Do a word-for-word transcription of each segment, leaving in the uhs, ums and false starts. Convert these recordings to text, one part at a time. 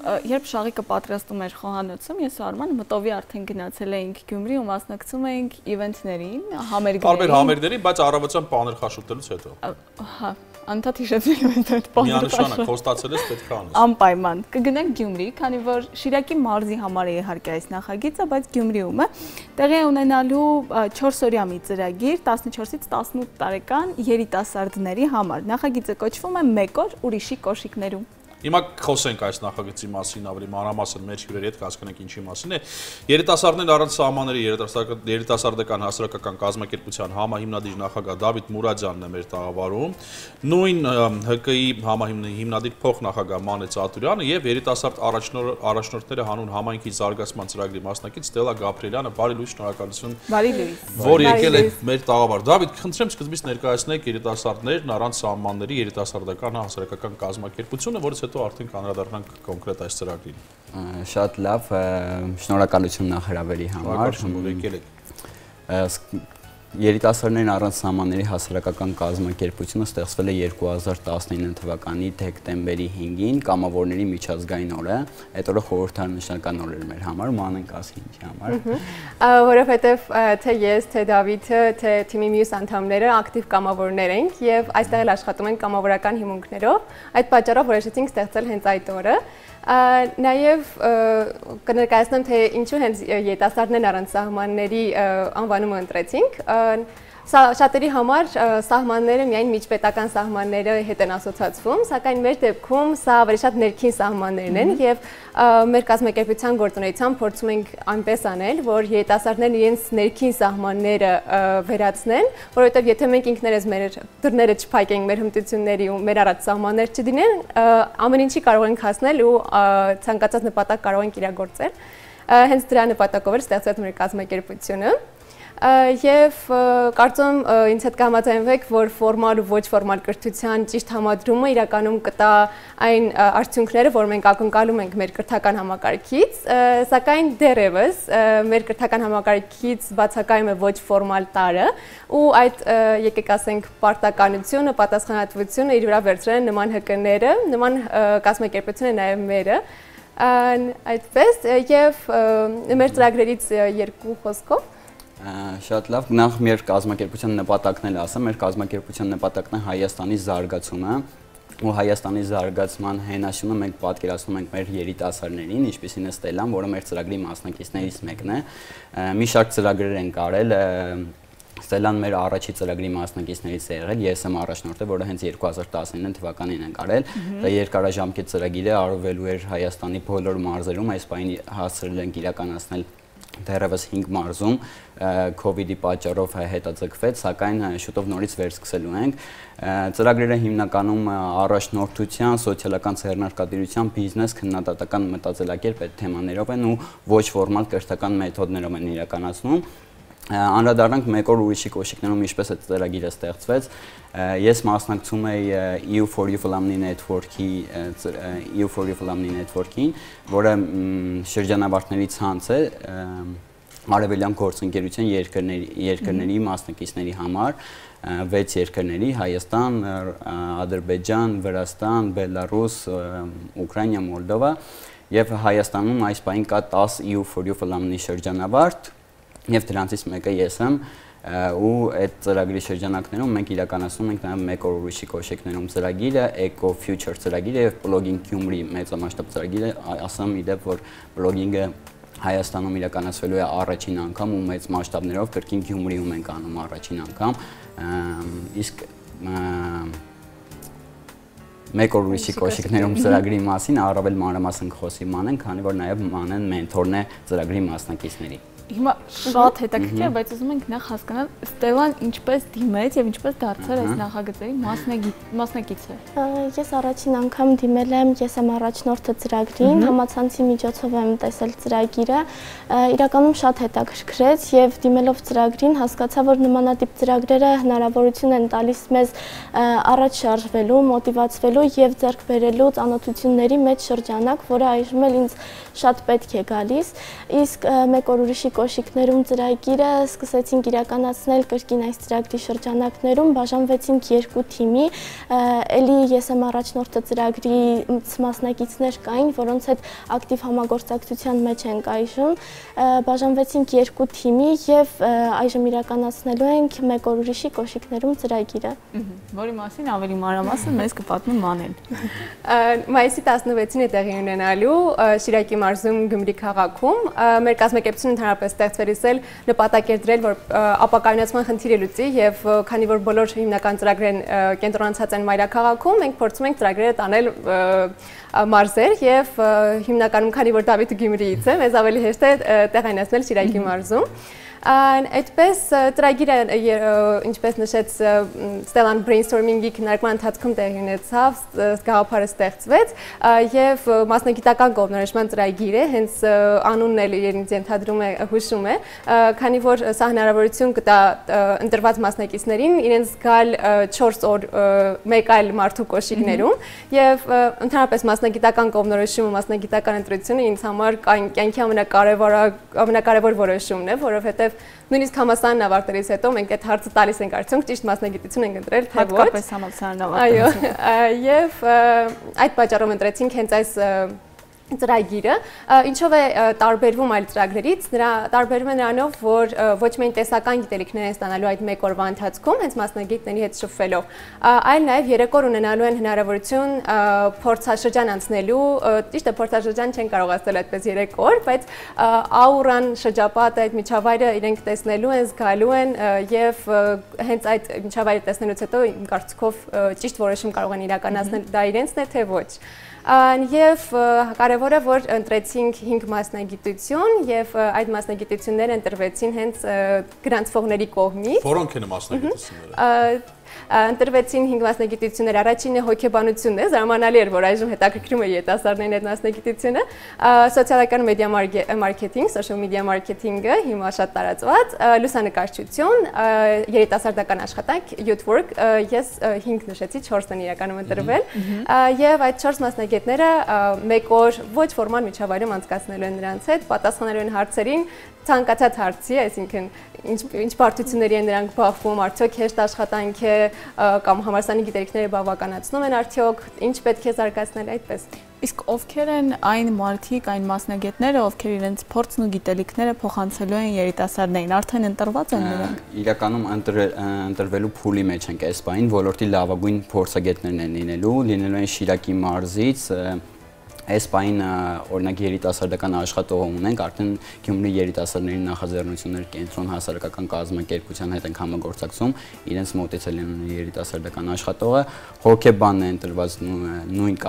երբ շաղիկը պատրաստում էր խոհանոցում, ես ու Արմանը մտովի արդեն գնացել էինք Գյումրի ու մասնակցում էինք իվենթներին, համերգներին։ Տարբեր համերգներին, բայց առավոտյան պաներ խաշուտելուց հետո։ Հա, անդադ հիշեցնում եմ այդ պաները։ Միանշանակ խոստացել ես պետք է անես։ Անպայման։ Կգնանք Գյումրի, քանի որ Շիրակի մարզի համար է իհարկե այս նախագիծը, բայց Գյումրիում է տեղի է ունենալու չորսօրյա մի ծրագիր տասնչորսից տասնութ տարեկան երիտասարդների համար։ Նախագիծը կոչվում է «Մեկ օր ուրիշի կոշիկներում»։ Հիմա խոսենք այս նախագծի մասին, ավելի մանրամասն մեր հյուրերի հետ կհասկանանք ինչի մասին է։ Երիտասարդներ առանց սահմանների երիտասարդական հասարակական կազմակերպության համահիմնադիր նախագահ Դավիթ Մուրադյանն է մեր տաղավարում, նույն Հ Կ ի համահիմնադիր փոխնախագահ Մանե Ծատուրյանը եւ երիտասարդ առաջնորդները հանուն համայնքի զարգացման ծրագրի մասնակից Ստելա Գաբրիելյանը։ Բարի լույս, շնորհակալություն, որ եկել եք մեր տաղավար։ Դավիթ, խնդրեմ սկզբից ներկայացնեք երիտասարդներն առանց սահմանների երիտասարդական հասարակական կազմակերպությունը, որից հետո արդեն կանրադառնանք կոնկրետ այս ծրագրին։ Շատ լավ, շնորհակալություն նախարարի համար։ Երիտասարդներն առանց սահմանների հասարակական կազմակերպությունը ստեղծվել է երկու հազար տասնինը թվականի դեկտեմբերի հինգին կամավորների միջազգային օրը։ Այդ օրը խորհրդանշական օր էր մեր համար, մանենք ասի ինչի համար։ Որովհետև թե ես, թե Դավիթը, թե թիմի մյուս անդամները ակտիվ կամավորներ ենք եւ այստեղ էլ աշխատում ենք կամավորական հիմունքներով։ Այդ պատճառով որոշեցինք ստեղծել հենց այդ օրը։ Նաև կներկայացնեմ, թե ինչու հենց երիտասարդներն առանց սահմանների անվանումը ընտրեցինք։ Շատերի համար սահմանները միայն միջպետական սահմանները հետ են ասոցացվում, սակայն մեր դեպքում սա ավելի շատ ներքին սահմաններն են եւ մեր կազմակերպության գործունեությամբ փորձում ենք այնպես անել, որ երիտասարդներն իրենց ներքին սահմանները վերացնեն, որովհետեւ եթե մենք ինքներս մեր դռները չփակենք մեր հմտությունների ու մեր առաջ սահմաններ չդինեն, ամեն ինչի կարող ենք հասնել ու ցանկացած նպատակ կարող ենք իրագործել։ Հենց դրա նպատակով էր ստեղծվել մեր կազմակերպությունը։ Եվ կարծում ինձ հետ կհամաձայնվեք, որ ֆորմալ ու ոչ ֆորմալ կրթության ճիշտ համադրումը իրականում կտա այն արդյունքները, որ մենք ակնկալում ենք մեր կրթական համակարգից, սակայն դեռևս մեր կրթական համակարգից բացակայում է ոչ ֆորմալ տարրը ու այդ եկեք ասենք պարտականությունը, պատասխանատվությունը իր վրա վերցրել են նման Հ Կ-ները, նման կազմակերպությունը նաև մերը, այդպես եւ մեր ծրագրերից երկու խոսքով Շատ լավ, նախ մեր կազմակերպության նպատակն էլ ասեմ, մեր կազմակերպության նպատակն է Հայաստանի զարգացումը ու Հայաստանի զարգացման հենասյունը մենք պատկերացնում ենք մեր երիտասարդներին, ինչպիսին է Ստելան, որը մեր ծրագրի մասնակիցներից մեկն է։ Մի շարք ծրագրեր ենք արել, Ստելան մեր առաջի ծրագրի մասնակիցներից է եղել, ես եմ առաջնորդը, որը հենց երկու հազար տասնինը թվականին ենք արել։ Դա երկարաժամկետ ծրագիր է, արվելու էր Հայաստանի բոլոր մարզերում, այս պահին հասցրել ենք իրականացնել դեռևս հինգ մարզում COVID-ի պատճառով հետաձգվեց, սակայն շուտով նորից վերսկսելու ենք։ Ծրագրերը հիմնականում առաջնորդության, սոցիալական ձեռնարկատիրության, բիզնես, քննադատական մտածելակերպ այդ թեմաներով են ու ոչ ֆորմալ կրթական մեթոդներով են իրականացնում։ Անդրադառնանք մեկ օր ուրիշի կոշիկներում ինչպես է ծրագիրը ստեղծվեց։ Ես մասնակցում էի E U for You Alumni Network-ի E U for You Alumni Network-ին, որը շրջանավարտների ցանց է արևելյան գործընկերության երկրների երկրների մասնակիցների համար, վեց երկրների՝ Հայաստան, Ադրբեջան, Վրաստան, Բելարուս, Ուկրաինա, Մոլդովա, եւ Հայաստանում այս պահին կա տասը E U for You Alumni շրջանավարտ, եւ դրանցից մեկը ես եմ, ու այդ ծրագրի շրջանակներում մենք իրականացնում ենք նաեւ մեկ օր ուրիշի կոշիկներում ծրագիրը, Eco Future ծրագիրը եւ Blogging Գյումրի մեծամասշտաբ ծրագիրը, ասեմ իդեպ, որ blogging-ը Հայաստանում իրականացվելու է առաջին անգամ ու մեծ մասշտաբներով, կրկին Գյումրիում ենք անում առաջին անգամ, իսկ մեկ օր ուրիշի կոշիկներում ծրագրի մասին առավել մանրամասն խոսի Մանեն, քանի որ նաեւ Մանեն մենթորն է ծրագրի մասնակիցների։ Հիմա շատ հետաքրքիր է, բայց ուզում ենք նախ հասկանալ Ստելան ինչպես դիմեց եւ ինչպես դարձավ այս նախագծերի մասնակից է։ Ես առաջին անգամ դիմել եմ, ես եմ առաջնորդը ծրագրին, համացանցի միջոցով եմ տեսել ծրագիրը, իրականում շատ հետաքրքրեց եւ դիմելով ծրագրին հասկացա, որ նմանատիպ ծրագրերը հնարավորություն են տալիս մեզ առաջ շարժվելու, մոտիվացվելու եւ ձեռք բերելու ծանոթությունների մեջ շրջանակ, որը այժմ էլ ինձ շատ պետք է գալիս, իսկ մեկ օր ուրիշի կոշիկներում ծրագիրը սկսեցինք իրականացնել կրկին այս ծրագրի շրջանակներում, բաժանվեցինք երկու թիմի, էլի ես եմ առաջնորդը ծրագրի մասնակիցներ կային, որոնց հետ ակտիվ համագործակցության մեջ ենք այժմ, բաժանվեցինք երկու թիմի եւ այժմ իրականացնելու ենք մեկ օր ուրիշի կոշիկներում ծրագիրը, որի մասին ավելի մանրամասն մեզ կպատմի Մանեն։ Մայիսի տասնվեցին է տեղի ունենալու Շիրակի մարզում Գյումրի քաղաքում, մեր կազմակերպությունը ընդհանրապես ստեղծվելիս էլ նպատակ էր դրել, որ ապակայունացման խնդիրը լուծի եւ քանի որ բոլոր հիմնական ծրագրերն կենտրոնացած են մայրաքաղաքում, մենք փորձում ենք ծրագրերը տանել մարզեր եւ հիմնականում քանի որ Դավիթը Գյումրիից է, մեզ ավելի հեշտ է տեղայնացնել Շիրակի մարզում։ Այդպես ծրագիրը ինչպես նշեց Ստելան brainstorming-ի քննարկման ընթացքում տեղի ունեցավ, գաղափարը ստեղծվեց եւ մասնագիտական կողմնորոշման ծրագիր է, հենց անունն էլ իրենից ենթադրում է, հուշում է, քանի որ սա հնարավորություն կտա ընտրված մասնակիցներին իրենց գալ չորս օր մեկ այլ մարդու կոշիկներում եւ ընդհանրապես մասնագիտական կողմնորոշումը, մասնագիտական ընտրությունը ինձ համար կյանքի ամենակարևոր ամենակարևոր որոշումն է, որովհետեւ նույնիսկ համալսարանն ավարտելիս հետո մենք այդ հարցը տալիս ենք արդյոք ճիշտ մասնագիտություն ենք ընտրել թե ոչ։ Հատկապես համալսարանն ավարտելիս։ Այո, եւ այդ պատճառով ընտրեցինք հենց այս ծրագիրը, ինչով է տարբերվում այլ ծրագրերից, նրա տարբերվում է նրանով, որ ոչ միայն տեսական գիտելիքներ են ստանալու այդ մեկ օրվա ընթացքում, հենց մասնագետների հետ շփվելով, այլ նաև երեք օր ունենալու են հնարավորություն փորձաշրջան անցնելու, ճիշտ է փորձաշրջան չեն կարող ասել այդպես երեք օր, բայց աուրան, շրջապատը, այդ միջավայրը իրենք տեսնելու են, զգալու են եւ հենց այդ միջավայրը տեսնելուց հետո իմ կարծիքով ճիշտ որոշում կարող են իրականացնել դա իրենցն է թե ոչ։ Եվ կարևորը, որ ընտրեցինք հինգ մասնագիտություն եւ այդ մասնագիտությունները ընտրվեցին հենց գրանցվողների կողմից։ Որոնք են մասնագիտությունները։ Ընտրվեցին հինգ մասնագիտություններ, առաջինը հոգեբանությունն է, զարմանալի էր, որ այժմ հետաքրքրում է երիտասարդներին այդ մասնագիտությունը, սոցիալական մեդիա մարքեթինգ, social media marketing-ը հիմա շատ տարածված, լուսանկարչություն, երիտասարդական աշխատանք, youth work, ես հինգ նշեցի, չորսն են իրականում ընտրվել, եւ այդ չորս մասնագետները մեկ օր ոչ ֆորմալ միջավայրում անցկացնելու են նրանց հետ, պատասխանելու են հարցերին, ցանկացած հարցի, այսինքն ինչ բարդությունների են նրանք բախվում, արդյոք հեշտ աշխատանք է կամ համալսարանի գիտելիքները բավականացնում են արդյոք, ինչ պետք է զարգացնել այդպես։ Իսկ ովքեր են այն մարդիկ, այն մասնագետները, ովքեր իրենց փորձն ու գիտելիքները փոխանցելու են երիտասարդներին, արդեն ընտրված են նրանք։ Իրականում ընտրվելու փուլի մեջ ենք այս բանին, ոլորտի լավագույն փորձագետներն են լինելու, լինելու են Շիրակի մարզից, այս բային օրինակ երիտասարդական աշխատող ունենք, արդեն Գյումրի երիտասարդների նախաձեռնություններ կենտրոն հասարակական կազմակերպության հետ ենք համագործակցում, իրենց մոտեցել են երիտասարդական աշխատողը, հոգեբանն է ընտրված նույն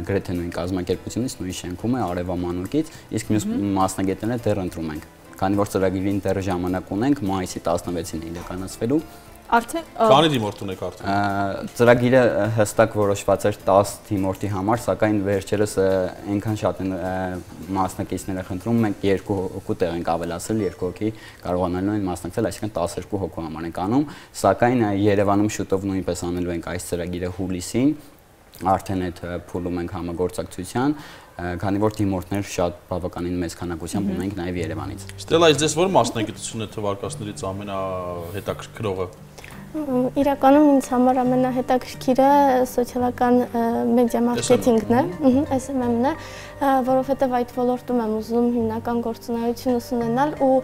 գրեթե նույն կազմակերպությունից, նույն շենքում է Արևամանուկից, իսկ մյուս մասնագետները դեռ ընտրում ենք։ Քանի որ ծրագրին դեռ ժամանակ ունենք, մայիսի տասնվեցին է իրականացվելու։ Արդեն Քանի դիմորդ ունեք արդեն։ Ծրագիրը հստակ որոշված էր տասը դիմորդի համար, սակայն վերջերս այնքան շատ են մասնակիցները խնդրում, մենք երկու հոգու տեղ ենք ավելացրել, երկու հոգի կարողանալու են մասնակցել, այսինքն տասներկու հոգու համար ենք անում, սակայն Երևանում շուտով նույնպես անելու ենք այս ծրագիրը հուլիսին, արդեն այդ փուլում ենք համագործակցության, քանի որ դիմորդներ շատ բավականին մեծ քանակությամբ ունենք նաև Երևանից։ Ստելա, ձեզ ո՞ր մասնագիտությունն է թվարկածներից ամենահետաքրքրողը։ Իրականում ինձ համար ամենահետաքրքիրը սոցիալական մեդիա մարքեթինգն է, էս էմ էմ-ն է, որովհետև այդ ոլորտում եմ ուզում հիմնական գործունեություն ուսումնանալ ու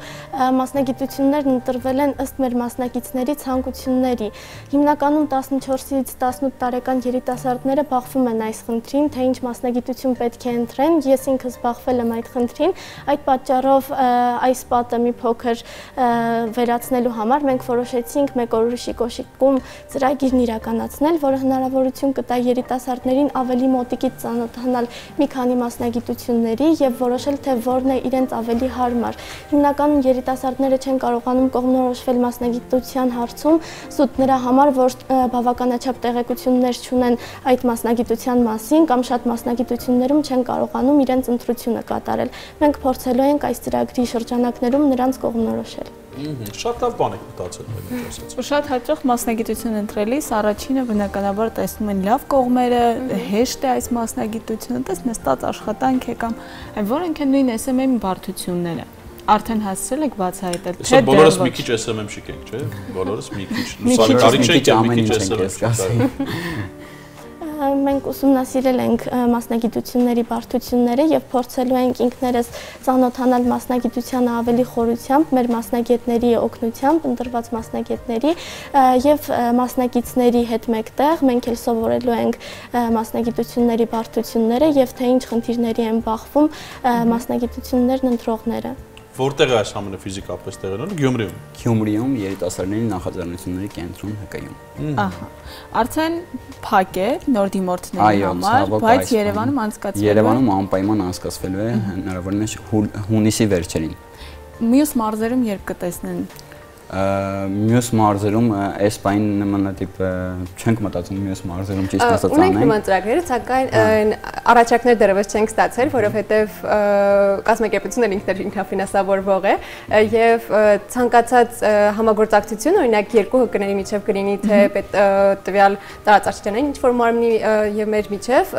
մասնագիտություններն ընտրվել են ըստ մեր մասնակիցների ցանկությունների։ Հիմնականում տասնչորսից տասնութ տարեկան երիտասարդները բախվում են այս խնդրին, թե ինչ մասնագիտություն պետք է ընտրեն, ես ինքս բախվել եմ այդ խնդրին, այդ պատճառով այս պատը մի փոքր վերացնելու համար մենք որոշեցինք մեկ օր ուրիշի կոշիկում ծրագիրն իրականացնել, որը հնարավորություն կտա երիտասարդներին ավելի մոտիկից ծանոթանալ մի քանի մասնագիտությունների եւ որոշել թե որն է իրենց ավելի հարմար։ Հիմնականում երիտասարդները չեն կարողանում կողմնորոշվել մասնագիտության հարցում, զուտ նրա համար, որ բավականաչափ տեղեկություններ չունեն այդ մասնագիտության մասին կամ շատ մասնագիտություններում չեն կարողանում իրենց ընտրությունը կատարել։ Մենք փորձելու ենք այս ծրագրի շրջանակներում նրանց կողմնորոշել։ Շատ լավ բան եք մտածել մենք ասած։ Ու շատ հաճախ մասնագիտություն ընտրելիս առաջինը բնականաբար տեսնում են լավ կողմերը, հեշտ է այս մասնագիտությունը, տես նստած աշխատանք է կամ որոնք են նույն էս էմ էմ բարդությունները։ Արդեն հասցրել եք բացահայտել, թե բոլորս մի քիչ էս էմ էմ-շիկ ենք, չէ՞։ Բոլորս մի քիչ լուսանկարիչ ենք, մի քիչ էս էմ էմ։ Մենք ուսումնասիրել ենք մասնագիտությունների բարդությունները եւ փորձելու ենք ինքներս ծանոթանալ մասնագիտությանը ավելի խորությամբ, մեր մասնագետների օգնությամբ, ընտրված մասնագետների եւ մասնակիցների հետ մեկտեղ մենք էլ սովորելու ենք մասնագիտությունների բարդությունները եւ թե ինչ խնդիրների են բախվում մասնագիտություններն ընտրողները։ Որտեղ է այս ամենը ֆիզիկապես տեղի ունենում? Գյումրիում։ Գյումրիում երիտասարդների նախաձեռնությունների կենտրոն ՀԿ-ում։ Ահա։ Արդեն փակ է նոր դիմորդների համար, բայց Երևանում անցկացվելու է։ Երևանում անպայման անցկացվելու է հնարավորինս հունիսի վերջերին։ Մյուս մարզերում երբ կտեսնեն։ Մյուս մարզերում այս բան նմանատիպ չենք մտածում մյուս մարզերում ճիշտ ասած անենք։ Ունենք նման ծրագրեր, սակայն առաջարկներ դեռևս չենք ստացել, որովհետև կազմակերպությունն ինքն ինքնաֆինանսավորվող է եւ ցանկացած համագործակցություն, օրինակ երկու հկների միջև կլինի թե տվյալ տարածաշրջանային ինչ-որ մարմնի եւ մեր միջև,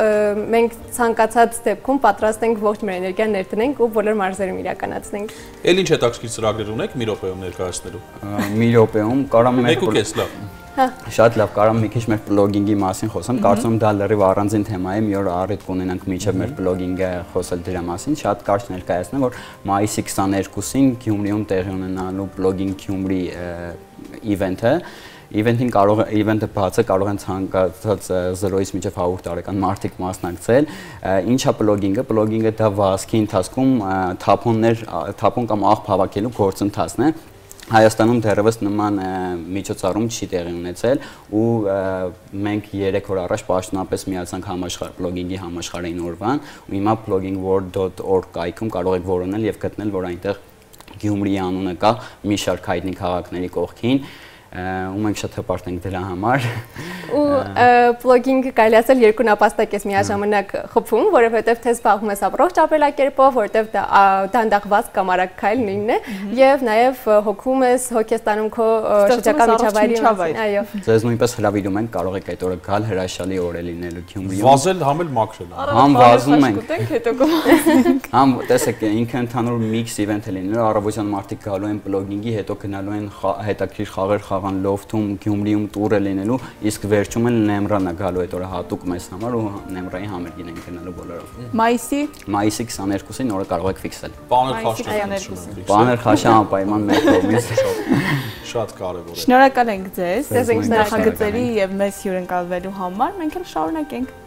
մենք ցանկացած դեպքում պատրաստ ենք ողջ մեր էներգիան ներդնենք ու բոլոր մարզերում իրականացնենք։ Էլ ինչ հետաքրքիր ծրագրեր ունեք մի րոպեում ներկայացնելու։ Մի րոպեում կարամ մեկ ու կես լավ։ Շատ լավ, կարամ մի քիչ մեր բլոգինգի մասին խոսեմ, կարծում եմ դա լրիվ առանձին թեմա է, մի օր առիթ կունենանք միջև մեր բլոգինգը խոսել դրա մասին, շատ կարճ ներկայացնեմ, որ մայիսի քսաներկուսին Գյումրիում տեղի ունենալու Blogging Gyumri event-ը Իվենտին կարող է իվենտը բաց է, կարող են ցանկացած զրոյից մինչև հարյուր տարեկան մարդիկ մասնակցել։ Ինչա բլոգինգը, բլոգինգը դա վազքի ընթացքում թափոններ, թափոն կամ աղբ հավաքելու գործընթացն է։ Հայաստանում դեռևս նման միջոցառում չի տեղի ունեցել ու մենք երեք օր առաջ պաշտոնապես միացանք համաշխարհ բլոգինգի համաշխարհային օրվան ու հիմա blogging world dot org կայքում կարող եք որոնել եւ գտնել, որ այնտեղ Գյումրիի անունը կա մի շարք հայտնի քաղաքների կողքին ու մենք շատ հպարտ ենք դրա համար։ Ու բլոգինգը կարելի ասել երկու նպաստակ ես միաժամանակ խփում, որովհետև թե զբաղվում ես առողջ ապրելակերպով, որտեղ դանդաղված կամ արագ քայլ նույնն է, եւ նաեւ հոգում ես, հոգ ես տանում քո շրջակա միջավայրի մասին, այո։ Ձեզ նույնպես հրավիրում ենք, կարող եք այդ օրը գալ, հրաշալի օր է լինելու Գյումրիում։ Վազել, համ էլ մաքրել։ Համ վազում ենք։ Հետո կմաքրենք։ Համ տեսեք, ինքը ընդհանուր միքս իվենթ է լինելու, առավոտյան մարդիկ գալու են բլոգինգի, հետո գնալու են հետաքրքիր խաղեր խաղան լոֆթում, Գյումրիում տուրը լինելու, իսկ վերջում էլ Նեմրան է գալու այդ օրը հատուկ մեզ համար ու Նեմրայի համերգին են գնալու բոլորով։ Մայիսի Մայիսի քսաներկուսին օրը կարող եք ֆիքսել։ Պաներ խաշտում։ Պաներ խաշա անպայման մեր կողմից։ Շատ կարևոր է։ Շնորհակալ ենք ձեզ։ Ձեզ ենք նախագծերի եւ մեզ հյուրընկալվելու համար։ Մենք էլ շարունակենք։